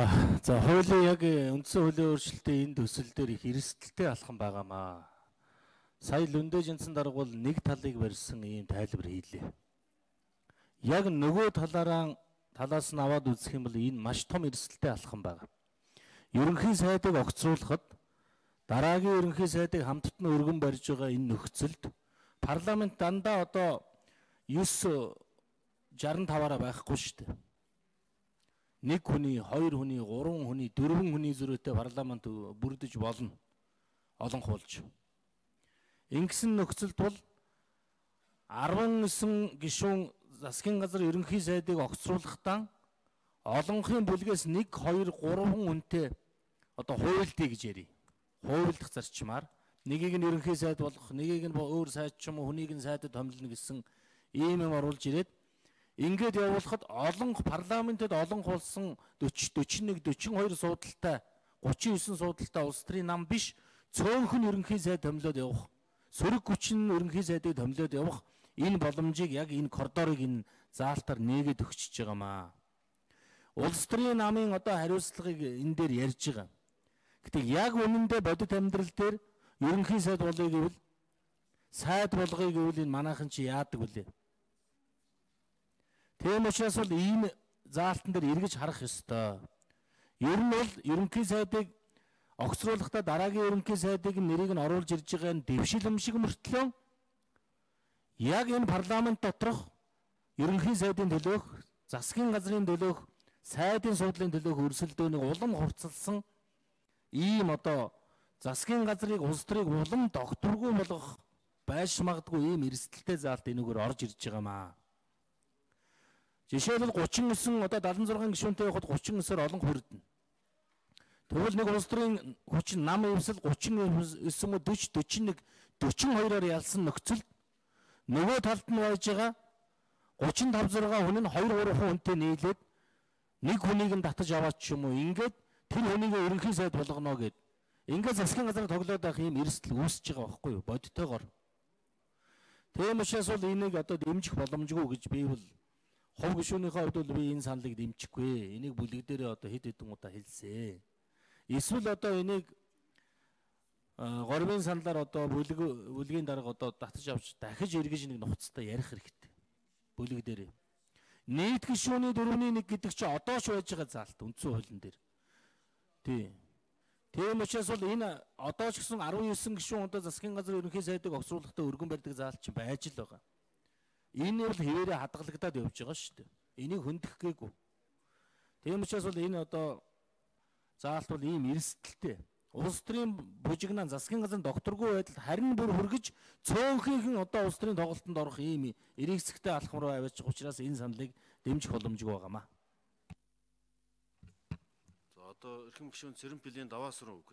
За хуулийн яг үндсэн хуулийн өөрчлөлтийн энэ төсөл дээр их эрсдэлтэй алхам байгаамаа. Сая Лүндэ Жинсэн дарга бол нэг талыг барьсан ийм тайлбар хийлээ. Яг нөгөө талаас нь аваад үзэх юм бол энэ маш том эрсдэлтэй алхам байгаа. Ерөнхий сайдыг огцруулахад дараагийн ерөнхий сайдыг хамтд нь өргөн барьж байгаа энэ нөхцөлд парламент дандаа одоо 965-аараа байхгүй шүү дээ. Нэг хүний, хоёр хүний, гурван хүний, дөрвөн хүний зөрүүтэй парламент бүрдэж болно. Олон хуулж. Ингэсэн нөхцөлд бол 19 гишүүн засгийн газар ерөнхий сайдыг огцруулахдаа олонхын бүлгээс 1, 2, 3 хүнтэй одоо хуйлдъя гэж ярив. Хуйлдах зарчмаар нэгийг нь ерөнхий сайд болгох, нэгийг нь өөр сайд ч юм уу хүнийг нь сайдад томилно гэсэн ийм юм оруулж ирээд ингээд явуулахад олон парламентэд олон хулсан 40, 41, 42 суудалтай 39 суудалтай улс төрийн нам биш цөөнхөн ерөнхий сайд томилоод явах, сөрөг хүчин ерөнхий сайдыг томилоод явах энэ боломжийг яг энэ коридорыг энэ заалтаар нээгээд өгчөж байгаамаа. Улс төрийн намын одоо хариуцлагыг энэ дээр ярьж байгаа. Гэтэ яг үнэндээ бодит амьдрал дээр ерөнхий сайд болгоё гэвэл энэ манайхан чи яадаг вүлээ? Тийм учраас бол ийм заалтан дээр эргэж харах ёстой. Ер нь бол ерөнхий сайдыг огцруулахдаа дараагийн ерөнхий сайдыг нэрийг нь оруулж ирж байгаа нь дэвшилэм шиг мөртлөө яг энэ парламент доторх ерөнхий сайдын төлөөх, засгийн газрын төлөөх, сайдын суудлын төлөөх өрсөлдөөнийг улам хурцлсан ийм одоо засгийн газрыг улс төрийг улам докторгүй болгох байж магадгүй ийм эрсдэлтэй заалт энэгээр орж ирж байгаамаа. Жишээлбэл 39 одоо 76 гишүүнтэй явахад 39-оор олон хүрдэнэ. Тэгвэл нэг улс төрийн хүчин нам эвсэл 39 40 41 42-оор ялсан нөхцөлд нөгөө талд нь байж байгаа 35 6 хүн нь 2 3 хүнтэй нийлээд нэг хүнийг нь татаж аваад ч юм уу ингээд тэр хүнийг ерөнхий сайд болгоно гэд ингээд засгийн газар тоглоод байх ийм эрсдэл үүсэж байгаа байхгүй юу бодтойгоор. Тийм учраас бол энийг одоо дэмжих боломжгүй гэж би бол хов гишүүнийхээ хувьд бол би энэ саналыг дэмжихгүй. Энийг бүлэг дээрээ одоо хэд хэдэн удаа хэлсэн. Эсвэл одоо энийг горбын саналаар одоо бүлгийн дарга одоо татаж авч дахиж эргэж нэг нухацтай ярих хэрэгтэй. Бүлэг дээрээ. Нийт гишүүний 4-1 гэдэг чинь одоо ч байж байгаа заалт үндсэн хуулийн дээр. Тийм учраас бол энэ одоо ч гэсэн 19 гишүүн одоо засгийн газар ерөнхий сайдыг огцруулахдаа өргөн барьдаг заалт чинь байж л байгаа. Энэ бол хэвээрээ хадгалагдаад явж байгаа шүү дээ. Энийг хөндөх гээгүй. Тийм учраас бол энэ одоо заалт бол ийм эрсдэлтэй. Улс төрийн бужигнаа засгийн газрын докторгүй байдал харин бүр хүргэж цөөнхийнхэн одоо улс төрийн тоглолтод орох ийм эргэцэгтэй алхам руу аваачих учраас энэ саналыг дэмжих боломжгүй байгаамаа. За одоо эрхэм гишүүн Цэрэн Пилийн даваасруу үг